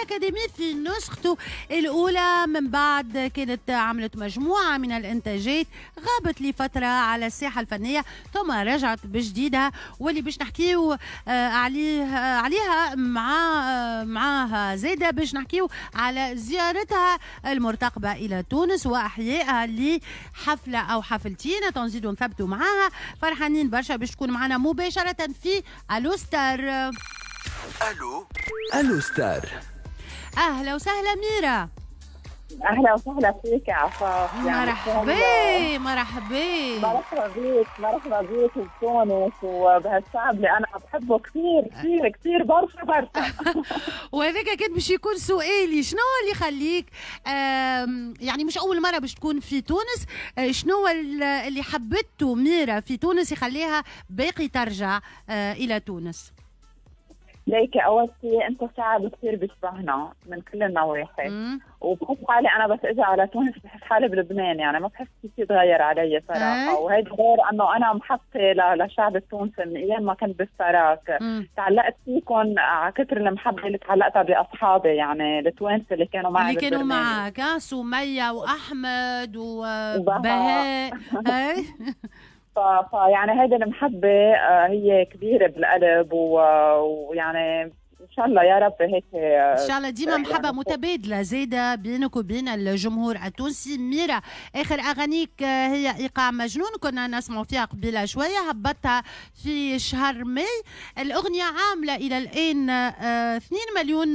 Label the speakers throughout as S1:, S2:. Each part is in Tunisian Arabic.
S1: ستار أكاديمي في نسخته الأولى. من بعد كانت عملت مجموعة من الإنتاجات، غابت لفترة على الساحة الفنية ثم رجعت بجديدها، واللي باش نحكيو عليها معاها زادة باش نحكيو على زيارتها المرتقبة إلى تونس وأحيائها لحفلة أو حفلتين تنزيدوا نثبتوا معاها. فرحانين برشا باش تكون معنا مباشرة في ألو ستار.
S2: ألو ألو ستار.
S1: أهلا وسهلا ميرا.
S3: اهلا وسهلا فيك يا عفاف.
S1: مرحبا مرحبا
S3: مرحبا بك، مرحبا بك بتونس وبهالشعب اللي انا بحبه كثير كثير كثير برشا برشا.
S1: وهذاك كان باش يكون سؤالي، شنو اللي يخليك يعني مش اول مرة باش تكون في تونس، شنو اللي حبته ميرا في تونس يخليها باقي ترجع الى تونس؟
S3: ليك اول شيء انتم شعب كثير بيشبهنا من كل النواحي، وبحس حالي انا بس اجي على تونس بحس حالي بلبنان، يعني ما بحس في شيء تغير علي صراحة. وهيدا غير انه انا محبتي للشعب التونسي من ايام ما كنت بالسراك، تعلقت فيكم على كثر المحبة اللي تعلقتها باصحابي، يعني التوانسة اللي كانوا معي،
S1: اللي كانوا معك سميه واحمد وبهاء.
S3: فيعني هيدي المحبة هي كبيرة بالقلب، ويعني إن شاء الله يا رب هيك
S1: إن شاء الله ديما محبة يعني متبادلة زايدة بينك وبين الجمهور التونسي. ميرا، آخر أغانيك هي إيقاع مجنون، كنا نسمع فيها قبيلة شوية، هبطتها في شهر ماي. الأغنية عاملة إلى الآن 2 مليون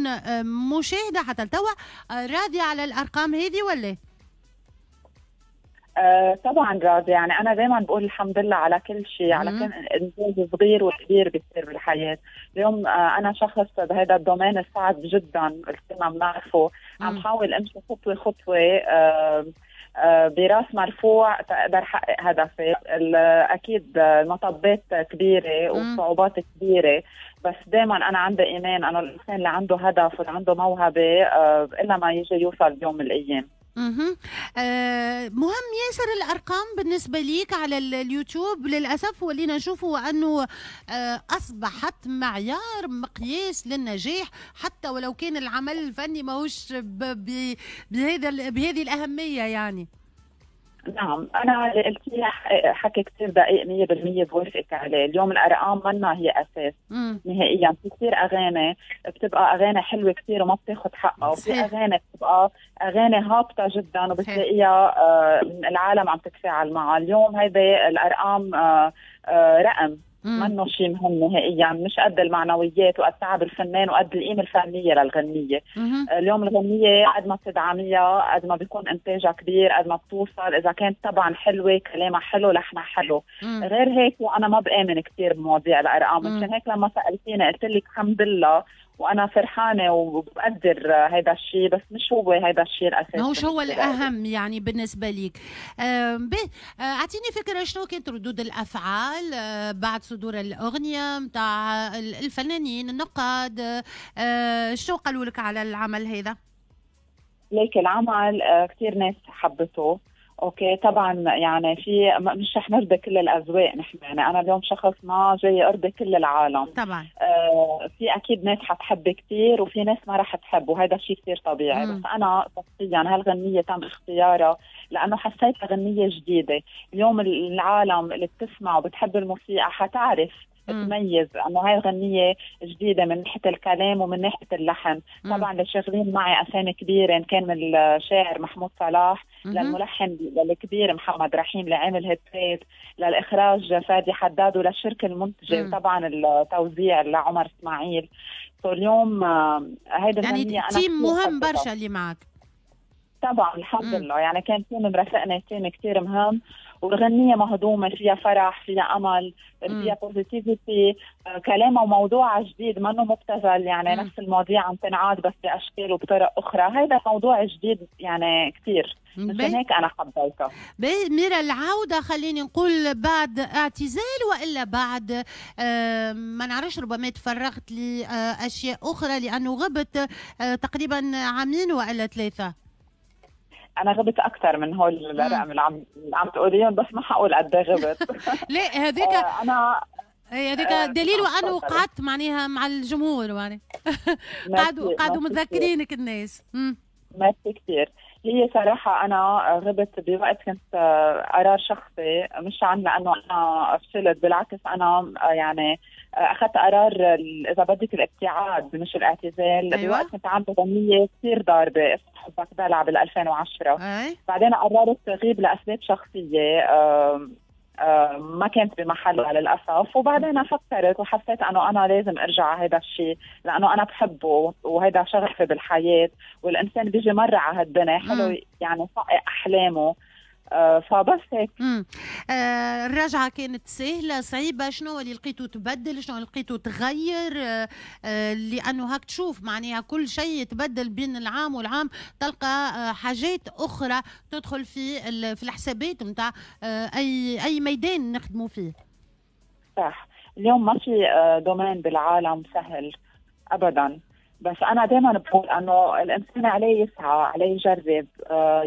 S1: مشاهدة حتى لتوا. راضية على الأرقام هذه ولا؟
S3: طبعا راضي، يعني انا دائما بقول الحمد لله على كل شيء، على كل انجاز صغير وكبير بيصير بالحياة. اليوم انا شخص بهذا ال domaine الصعب جدا اللي كلنا بنعرفه، عم حاول امشي خطوة خطوة براس مرفوع تقدر احقق هدفي. اكيد المطبات كبيرة والصعوبات كبيرة، بس دائما انا عندي ايمان انه الانسان اللي عنده هدف واللي عنده موهبة الا ما يجي يوصل بيوم من الايام.
S1: مهم ياسر الأرقام بالنسبة ليك على اليوتيوب. للأسف ولينا نشوفوا أنه أصبحت معيار مقياس للنجاح، حتى ولو كان العمل الفني ماهوش بهذه الأهمية يعني.
S3: نعم، أنا اللي قلتيه حكي كثير دقيق 100% بوافقك عليه. اليوم الأرقام منا هي أساس نهائيا. في كثير أغاني بتبقى أغاني حلوة كثير وما بتاخذ حقها، وفي أغاني بتبقى أغاني هابطة جدا وبتلاقيها العالم عم تتفاعل معها. اليوم هيدي الأرقام رقم منه شيء مهم نهائيا، مش قد المعنويات وقد تعب الفنان وقد القيمة الفنية للغنيه. اليوم الغنية قد ما بتدعميها قد ما بيكون انتاجها كبير، قد ما بتوصل، اذا كانت طبعا حلوة، كلامها حلو، لحنها حلو. غير هيك وانا ما بامن كثير بمواضيع الارقام، مشان هيك لما سالتيني قلت لك الحمد لله وانا فرحانة وبقدر هذا الشيء، بس مش هو هذا الشيء الاساسي،
S1: مش هو الاهم يعني بالنسبة ليك. اعطيني فكرة شنو كانت ردود الافعال بعد صدور الاغنية نتاع الفنانين النقاد، شو قالوا لك على العمل هذا؟
S3: ليك العمل كثير ناس حبته. okay طبعا يعني في مش رح نرضي كل الاذواق نحن، يعني انا اليوم شخص ما جاي ارضي كل العالم طبعا. في اكيد ناس حتحب كثير وفي ناس ما رح تحب، وهذا شيء كثير طبيعي. بس انا شخصيا هالغنية تم اختيارها لانه حسيتها غنية جديدة. اليوم العالم اللي بتسمع وبتحب الموسيقى حتعرف تميز انه هاي الغنية جديدة من ناحية الكلام ومن ناحية اللحن. طبعا اللي شغالين معي اسامي كبيرة، ان كان من الشاعر محمود صلاح، للملحن الكبير محمد رحيم اللي عامل هيتات، للاخراج فادي حداد، وللشركه المنتجة، وطبعا التوزيع لعمر اسماعيل. اليوم هيدي
S1: يعني team مهم برشا اللي معك.
S3: طبعا الحمد لله، يعني كان team مرافقنا، team كثير مهم، والغنية مهضومة، فيها فرح، فيها أمل، فيها positivity، كلامها وموضوعها جديد، منه مبتذل، يعني نفس المواضيع عم تنعاد بس بأشكال وبطرق أخرى. هذا موضوع جديد يعني كثير، مشان هيك أنا حبيتها.
S1: ميرا، العودة خليني نقول بعد اعتزال وإلا بعد ما نعرفش، ربما تفرغت لأشياء أخرى لأنه غبت تقريبا عامين وإلا 3.
S3: انا غبت اكثر من هول الرقم اللي عم تقوليهم، بس ما حقول قد ايه غبت.
S1: لا هذيك
S3: انا
S1: اي هذاك دليل انه قعدت معناها مع الجمهور يعني قعدوا متذكرينك الناس.
S3: ميرسي كثير. هي صراحة أنا غبت بوقت كنت قرار شخصي، مش عن لأنه أنا فشلت، بالعكس أنا يعني أخذت قرار إذا بدك الابتعاد مش الاعتزال. أيوة. بوقت كنت عاملة غنية كثير ضاربة اسمها حبك دلع بال2010. أي. بعدين قررت غيب لأسباب شخصية ما كانت بمحلها للأسف، وبعدين فكرت وحسيت أنه أنا لازم أرجع على هذا الشيء لأنه أنا بحبه وهذا شغفي بالحياة، والإنسان بيجي مرة على هالدنيا حلو يعني يحقق أحلامه. فبس هيك.
S1: الرجعة كانت سهلة صعيبة؟ شنو اللي لقيته تبدل، شنو اللي لقيته تغير؟ لأنه هاك تشوف معناها كل شيء يتبدل بين العام والعام، تلقى حاجات أخرى تدخل في الحسابات نتاع أي ميدان نخدموا فيه.
S3: صح، اليوم ما في domaine بالعالم سهل أبدا، بس أنا دايما بقول أنه الإنسان عليه يسعى، عليه يجرب،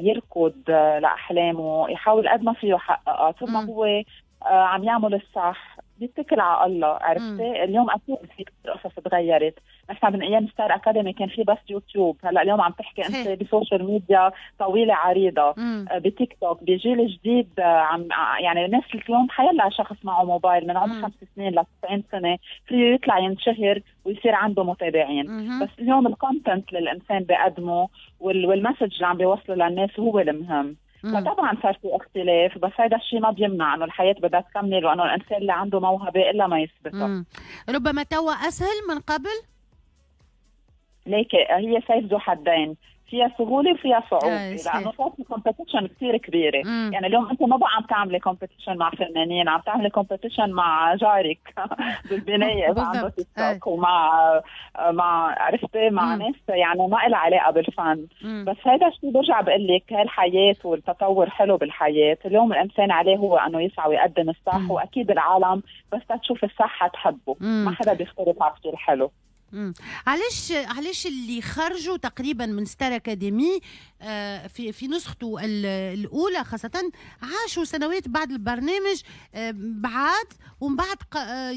S3: يركض لأحلامه، يحاول قد ما فيه يحققها، ثم هو عم يعمل الصح، بيتكل على الله. عرفتي؟ اليوم أكيد في كثير قصص تغيرت، نحن من أيام ستار أكاديمي كان في بس يوتيوب، هلا اليوم عم تحكي أنت ب social media طويلة عريضة، بتيك توك، بجيل جديد عم يعني الناس اليوم حيلا شخص معه موبايل من عمر 5 سنين ل 90 سنة فيه يطلع ينشهر ويصير عنده متابعين. بس اليوم ال content اللي الإنسان بيقدمه وال message اللي عم بيوصله للناس هو المهم. فطبعا صار في اختلاف، بس هذا الشيء ما بيمنع انه الحياة بدها تكمل وانه الانسان اللي عنده موهبة الا ما يثبتها.
S1: ربما توا اسهل من قبل؟
S3: ليك هي سيف ذو حدين، فيها سهولة وفيها صعوبة، لانه صار في competition كثير كبيرة. يعني اليوم انت ما بقى عم تعملي competition مع فنانين، عم تعملي competition مع جارك بالبنايه اذا عنده تيك توك، ومع مع عرفتي مع ناس يعني ما لها علاقة بالفن. بس هذا الشيء برجع بقول لك هالحياة والتطور حلو بالحياة، اليوم الانسان عليه هو انه يسعى ويقدم الصح، واكيد العالم بس تشوف الصح حتحبه، ما حدا بيختلف على شيء حلو.
S1: علاش اللي خرجوا تقريبا من ستار اكاديمي في نسخته الاولى خاصة عاشوا سنوات بعد البرنامج بعد، ومن بعد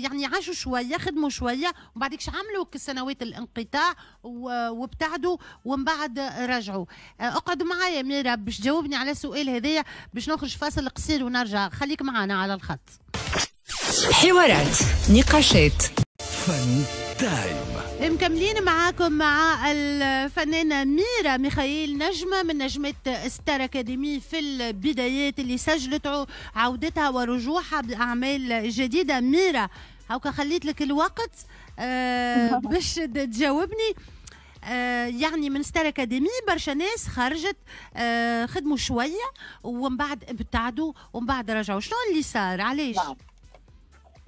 S1: يعني عاشوا شوية، خدموا شوية، ومن بعد عملوا سنوات الانقطاع وابتعدوا ومن بعد رجعوا. اقعد معايا ميرا باش تجاوبني على السؤال هذايا، باش نخرج فاصل قصير ونرجع، خليك معنا على الخط.
S4: حوارات، نقاشات،
S2: فن تايم.
S1: مكملين معاكم مع الفنانة ميرا ميخائيل، نجمة من نجمات ستار أكاديمي في البدايات اللي سجلت عودتها ورجوعها بأعمال جديدة. ميرا هاكا خليت لك الوقت باش تجاوبني. يعني من ستار أكاديمي برشا ناس خرجت، خدموا شوية ومن بعد ابتعدوا ومن بعد رجعوا، شنو اللي صار؟ علاش؟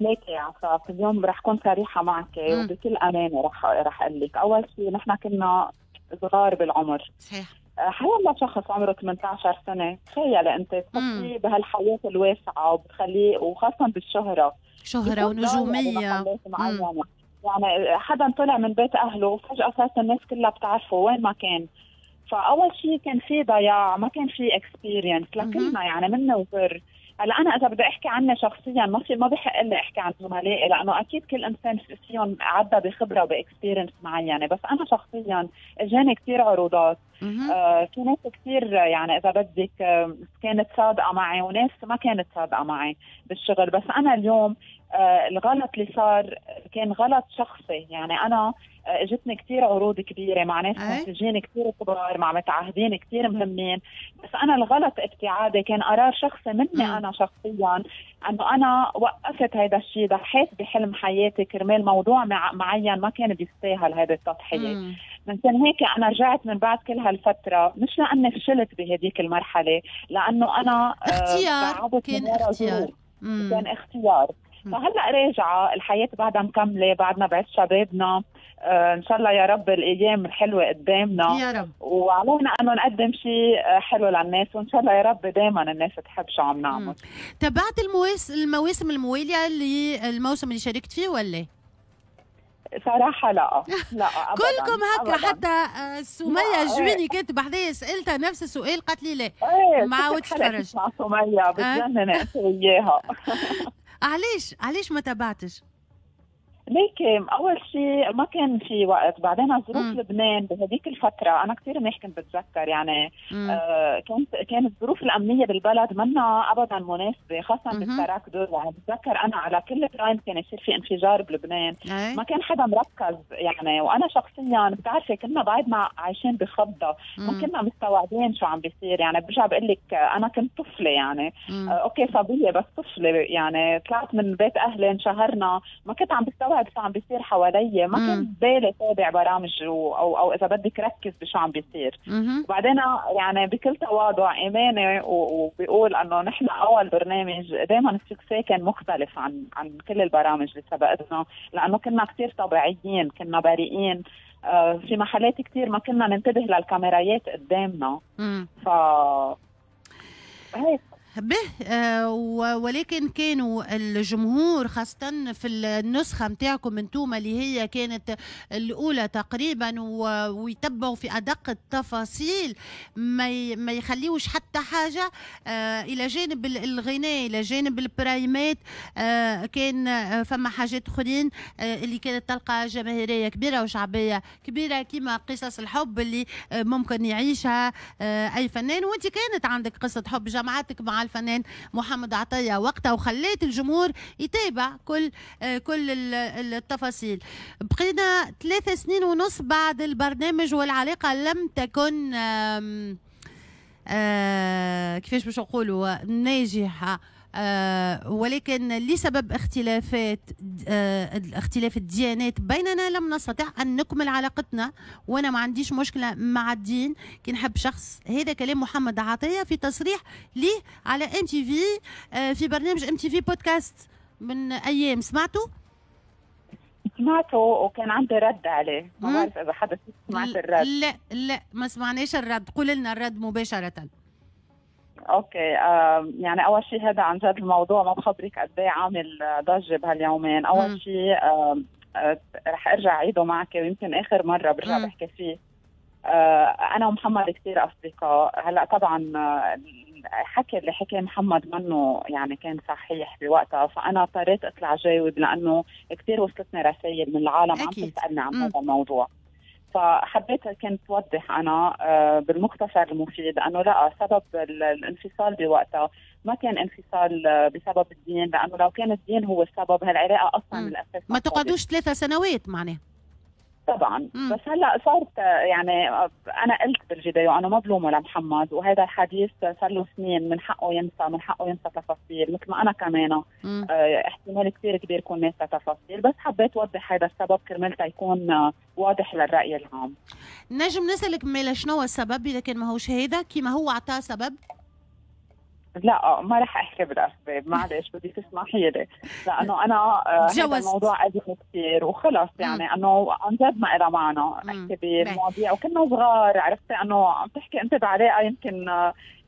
S3: ليك يا عفاف، اليوم رح كون صريحة معك وبكل أمانة رح أقول لك، أول شيء نحن كنا صغار بالعمر.
S1: صحيح.
S3: حيلا شخص عمره 18 سنة، تخيل أنت تحطيه بهالحياة الواسعة وبتخليه، وخاصة بالشهرة،
S1: شهرة ونجومية
S3: يعني حدا طلع من بيت أهله وفجأة صارت الناس كلها بتعرفه وين ما كان. فأول شيء كان في ضياع، ما كان في experience لكلنا يعني منا وزر. هلا انا اذا بدي احكي عني شخصيا ما بحق لي احكي عن زملائي، لانه اكيد كل انسان فيهم عدى بخبره وب experience معينة، بس انا شخصيا اجاني كثير عروضات، في ناس كثير يعني اذا بدك كانت صادقة معي وناس ما كانت صادقة معي بالشغل. بس انا اليوم الغلط اللي صار كان غلط شخصي، يعني انا اجتني كثير عروض كبيرة مع ناس منتجين كثير كبار، مع متعهدين كثير مهمين، بس انا الغلط ابتعادي كان قرار شخصي مني انا شخصيا، انه انا وقفت هذا الشيء، ضحيت بحلم حياتي كرمال موضوع معين ما كان بيستاهل هذه التضحية. من هيك انا رجعت من بعد كل هالفترة، مش لاني فشلت بهديك المرحلة، لانه انا
S1: اختيار، كان اختيار،
S3: كان اختيار. فهلا راجعه، الحياة بعدها مكملة، بعدنا بعز شبابنا، ان شاء الله يا رب الايام الحلوة قدامنا
S1: يا رب،
S3: وعلينا انه نقدم شيء حلو للناس، وان شاء الله يا رب دائما الناس تحب شو عم نعمل.
S1: تابعت المواسم الموالية للموسم اللي شاركت فيه ولا؟
S3: صراحة لا لا أبداً.
S1: كلكم هكا، حتى سمية الجويني كانت بحذايا سألتها نفس السؤال قالت لي لا ما عاودتش تفرجت.
S3: مع سمية بتجنن انت وياها.
S1: علاش ما تابعتش؟
S3: ليك اول شيء ما كان في وقت، بعدين ظروف لبنان بهذيك الفترة انا كثير منيح كنت بتذكر يعني كانت الظروف الامنية بالبلد منا ابدا مناسبة، خاصة بالتراك دور. يعني بتذكر انا على كل prime كان يصير في انفجار بلبنان، ما كان حدا مركز يعني. وانا شخصيا بتعرفي كنا بعد ما عايشين بخضه، ما كنا مستوعبين شو عم بيصير. يعني برجع بقول لك انا كنت طفله يعني، okay صبية بس طفله يعني، طلعت من بيت اهلي انشهرنا، ما كنت عم بستوعب شو عم بيصير حوالي، ما كنت بالي تابع برامج او اذا بدك ركز بشو عم بيصير. وبعدين يعني بكل تواضع ايماني وبيقول انه نحن اول برنامج دائما ال succès كان مختلف عن كل البرامج اللي سبقتنا، لانه كنا كثير طبيعيين، كنا بريئين، في محلات كثير ما كنا ننتبه للكاميرايات قدامنا. ف هيك
S1: به. ولكن كانوا الجمهور خاصة في النسخة متاعكم انتوما اللي هي كانت الأولى تقريبا، ويتبعوا في أدق التفاصيل، ما يخليوش حتى حاجة. إلى جانب الغناء، إلى جانب البرايمات، كان فما حاجات أخرين اللي كانت تلقى جماهيرية كبيرة وشعبية كبيرة، كما قصص الحب اللي ممكن يعيشها أي فنان. وانت كانت عندك قصة حب جمعتك مع الفنان محمد عطية وقتها، وخليت الجمهور يتابع كل التفاصيل. بقينا 3.5 سنين بعد البرنامج والعلاقة لم تكن كيفاش باش نقولوا ناجحة، ولكن لسبب اختلاف الديانات بيننا لم نستطع أن نكمل علاقتنا. وأنا ما عنديش مشكلة مع الدين، كي نحب شخص. هذا كلام محمد عطية في تصريح ليه على MTV في برنامج MTV بودكاست من أيام. سمعته؟
S3: سمعته وكان عندي رد عليه، ما بعرف إذا حدا سمعت الرد.
S1: لا لا ما سمعناش الرد، قول لنا الرد مباشرة.
S3: okay، يعني اول شيء هذا عن جد الموضوع ما بخبرك قد ايه عامل ضجه بهاليومين. اول شيء رح ارجع اعيده معك، ويمكن اخر مرة برجع بحكي فيه. انا ومحمد كثير اصدقاء. هلا طبعا الحكي اللي حكى محمد منه يعني كان صحيح بوقتها، فانا اضطريت اطلع جاوب لانه كثير وصلتني رسائل من العالم عم تسالني عن هذا الموضوع. فحبيت كنت توضح أنا بالمختصر المفيد أنه لا، سبب الانفصال بوقتها ما كان انفصال بسبب الدين، لأنه لو كان الدين هو السبب هالعلاقة أصلا من الأساس
S1: ما تقعدوش 3 سنوات معناه.
S3: طبعا. بس هلا صارت يعني انا قلت بالفيديو انا ما بلومه لمحمد، وهذا الحديث صار له سنين، من حقه ينسى، من حقه ينسى تفاصيل مثل ما انا كمان احتمال كثير كبير كون ناسى تفاصيل، بس حبيت اوضح هذا السبب كرمال يكون واضح للراي العام.
S1: نجم نسالك مالا شنو السبب اذا كان ماهوش هذا كيما هو عطاه سبب؟
S3: لا ما رح احكي بالاسباب، معلش بدي تسمحي لي، لانه انا هذا الموضوع قديم كثير وخلص، يعني انه عن جد ما لها معنى احكي بالمواضيع، وكنا صغار، عرفتي انه عم تحكي انت بعلاقة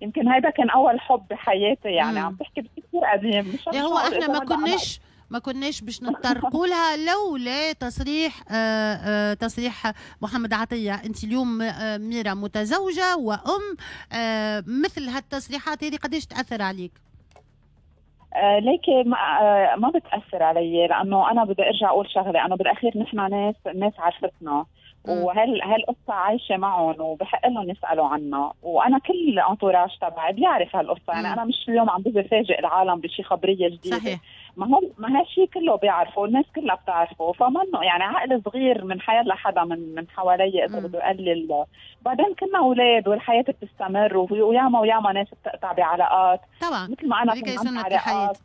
S3: يمكن هيدا كان اول حب بحياتي، يعني عم تحكي بشيء كثير قديم. مش
S1: هو احنا ما كناش باش نتطرقوا لها لولا تصريح تصريح محمد عطية. انت اليوم ميرا متزوجة وام، مثل هالتصريحات هذه قداش تاثر عليك؟
S3: ليكي ما بتاثر علي، لانه انا بدي ارجع اقول شغله، انه بالاخير نحن ناس عرفتنا، وهالقصة عايشة معهم وبحق لهم يسألوا عنا، وأنا كل entourage تبعي بيعرف هالقصة، يعني أنا مش اليوم عم بجي فاجئ العالم بشي خبرية جديدة.
S1: صحيح.
S3: ما هالشيء كله بيعرفه، الناس كلها بتعرفه، فمنه يعني عقل صغير من حياة لحدا من حوالي إذا بده يقلل. بعدين كنا أولاد والحياة بتستمر، وياما وياما ناس بتقطع بعلاقات
S1: طبعا،
S3: مثل ما أنا كنت علاقات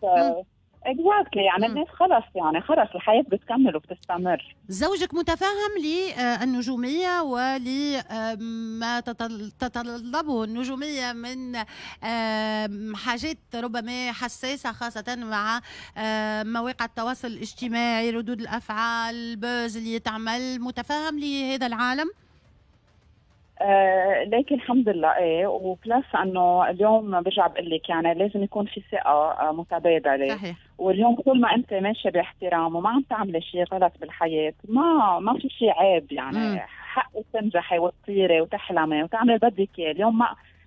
S3: exactly، يعني الناس خلص، يعني خلص الحياة بتكمل وبتستمر.
S1: زوجك متفهم للنجومية ولما تتطلبه النجومية من حاجات ربما حساسة، خاصة مع مواقع التواصل الاجتماعي، ردود الأفعال، ال buzz اللي تعمل، متفهم لهذا العالم؟
S3: لكن الحمد لله ايه، و plus انه اليوم برجع بقول لك يعني لازم يكون في ثقة متبادلة.
S1: صحيح.
S3: واليوم كل ما انت ماشية باحترام وما عم تعملي شيء غلط بالحياة، ما في شيء عيب، يعني حقك تنجحي وتطيري وتحلمي وتعملي اللي بدك اياه. اليوم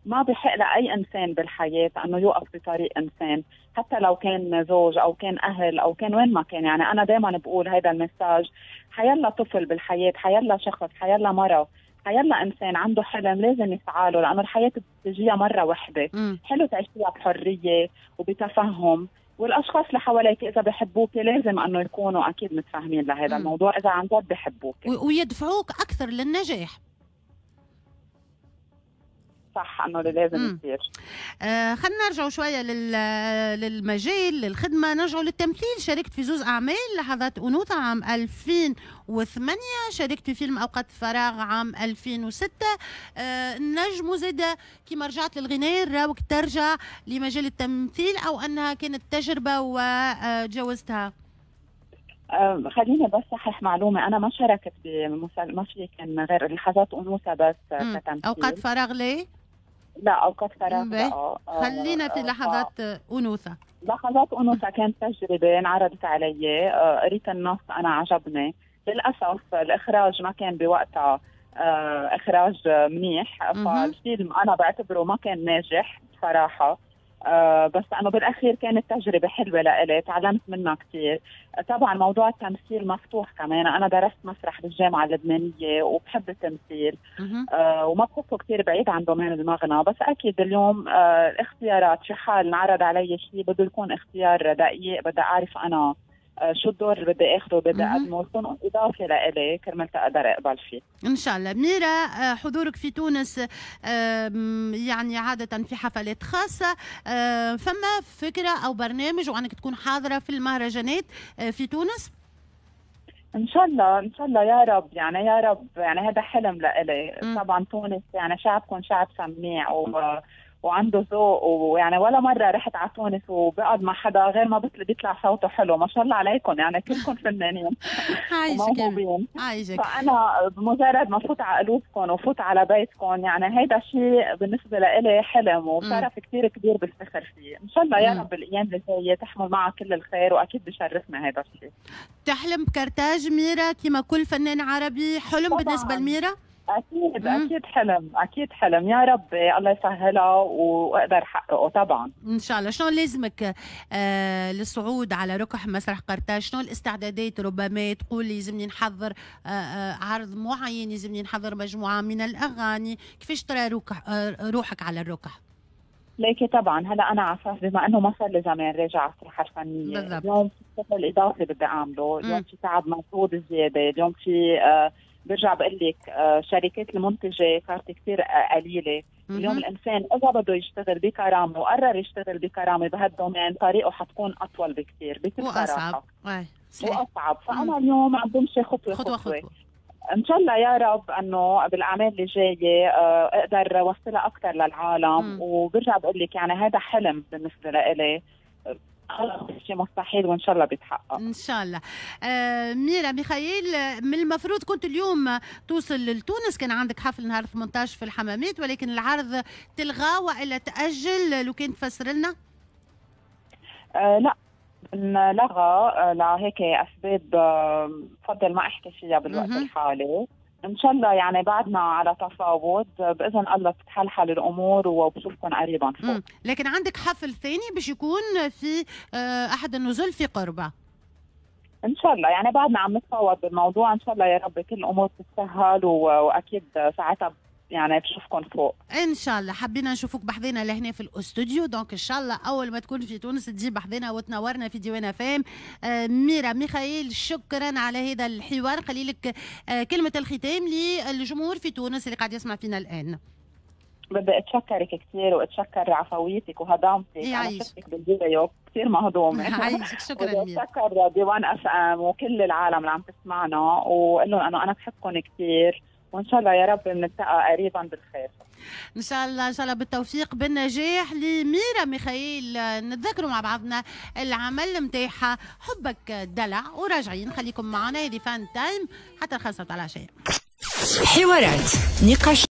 S3: ما بحق لأي إنسان بالحياة أنه يوقف بطريق إنسان، حتى لو كان زوج أو كان أهل أو كان وين ما كان. يعني أنا دايما بقول هذا ال message، حيلا طفل بالحياة، حيلا شخص، حيلا مرة، حيلا إنسان عنده حلم لازم يسعى له، لأنه الحياة بتجيها مرة واحدة. حلو تعيشيها بحرية وبتفهم، والأشخاص اللي حواليك إذا بحبوك لازم أنه يكونوا أكيد متفاهمين لهذا الموضوع إذا عن جد بحبوك
S1: ويدفعوك أكثر للنجاح.
S3: صح، انه اللي لازم يصير.
S1: خلينا نرجعوا شوية للمجال، للخدمة، نرجعوا للتمثيل. شاركت في زوز اعمال، لحظات انوثه عام 2008، شاركت في فيلم اوقات فراغ عام 2006. نجم زاده كيما رجعت للغناء راوك ترجع لمجال التمثيل، او انها كانت تجربه وتجاوزتها؟
S3: خليني بس صحح معلومة، انا ما شاركت بمسلسل، ما في كان غير لحظات انوثه بس كتمثيل.
S1: اوقات فراغ ليه؟
S3: لا، اوقات فراغ لا.
S1: خلينا في لحظات انوثه.
S3: لحظات انوثه كانت تجربه انعرضت علي، قريت النص انا عجبني. للاسف الاخراج ما كان بوقتها اخراج منيح، فالفيلم انا بعتبره ما كان ناجح بصراحة. بس أنا بالأخير كانت تجربة حلوة لإلي، تعلمت منها كثير. طبعا موضوع التمثيل مفتوح كمان، أنا درست مسرح بالجامعة اللبنانية وبحب التمثيل، وما بحسه كثير بعيد عن domaine المغنى. بس أكيد اليوم الاختيارات، في حال انعرض علي شيء بده يكون اختيار دقيق، بدي أعرف أنا شو الدور اللي بدي اخده، بدي اقدمه، يكون اضافه لإلي كرمال اقدر اقبل فيه.
S1: ان شاء الله. ميرا، حضورك في تونس يعني عادة في حفلات خاصة، فما فكرة او برنامج وانك تكون حاضره في المهرجانات في تونس؟
S3: ان شاء الله، ان شاء الله يا رب، يعني يا رب، يعني هذا حلم لإلي. طبعا تونس يعني شعبكم شعب سميع وعنده ذوق، ويعني ولا مرة رحت على تونس وبقعد مع حدا غير ما بيطلع صوته حلو، ما شاء الله عليكم، يعني كلكم فنانين وموهوبين.
S1: عايشك.
S3: فأنا بمجرد ما فوت على قلوبكم وفوت على بيتكم، يعني هيدا شيء بالنسبة لإلي حلم وشرف كثير كبير بفتخر فيه. إن شاء الله يا رب الأيام اللي جاية تحمل معها كل الخير، وأكيد بشرفنا هيدا الشيء.
S1: تحلم بكرتاج ميرا كما كل فنان عربي، حلم طبعاً. بالنسبة لميرا؟
S3: أكيد أكيد حلم، أكيد حلم، يا رب الله يسهلها وأقدر أحققه طبعا
S1: إن شاء الله. شنو لازمك للصعود على ركح مسرح قرطاج؟ شنو الاستعدادات؟ ربما تقول لازمني نحضر عرض معين، لازمني نحضر مجموعة من الأغاني، كيفاش ترى روحك على الركح؟
S3: ليكي طبعا هلا انا على اساس بما انه ما صار لي زمان راجع على الساحة الفنية، اليوم في شغل اضافي بدي اعمله، اليوم في تعب مجهود زيادة، اليوم في برجع بقول لك شركات المنتجة صارت كثير قليله. اليوم الانسان اذا بده يشتغل بكرامة وقرر يشتغل بكرامة بهال domaine، طريقه حتكون اطول بكثير بكل صراحة واصعب. فانا اليوم عم بمشي خطوة خطوة, خطوة. ان شاء الله يا رب انه بالاعمال اللي جاية اقدر اوصلها اكثر للعالم. وبرجع بقول لك يعني هذا حلم بالنسبة لإلي، شيء مستحيل وان شاء الله بيتحقق
S1: ان شاء الله. ميرا ميخائيل، من المفروض كنت اليوم توصل لتونس، كان عندك حفل نهار 18 في الحمامات، ولكن العرض تلغى والا تاجل، لو كان تفسر لنا؟
S3: لا، انلغى لهيك اسباب بفضل ما احكي فيها بالوقت الحالي. ان شاء الله يعني بعدنا على تفاوض، باذن الله تتحلحل الامور وبشوفكم قريبا فوق.
S1: لكن عندك حفل ثاني باش يكون في احد النزل في قربه
S3: ان شاء الله، يعني بعدنا عم نتفاوض بالموضوع، ان شاء الله يا رب كل الامور تتسهل واكيد ساعتها يعني بشوفكم فوق
S1: ان شاء الله. حبينا نشوفوك بحذينا لهنا في الاستوديو، donc ان شاء الله اول ما تكون في تونس تجي بحذينا وتنورنا في ديوان FM. ميرا ميخائيل، شكرا على هذا الحوار. خلي لك كلمة الختام للجمهور في تونس اللي قاعد يسمع فينا الان.
S3: بدي اتشكرك كثير واتشكر عفويتك وهضامتك، انا شفتك بالفيديو كثير مهضومة.
S1: عايشك، شكرا ميرا.
S3: اتشكر ديوان FM وكل العالم اللي عم تسمعنا، واقول لهم انه انا بحبكم كثير، وان شاء الله يا رب بنلتقى قريبا بالخير
S1: ان شاء الله. ان شاء الله بالتوفيق بالنجاح لميرا ميخائيل. نتذكروا مع بعضنا العمل نتاعها حبك دلع، وراجعين خليكم معنا، هذه فان تايم حتى 5:00 العشية.
S4: حوارات، نقاش.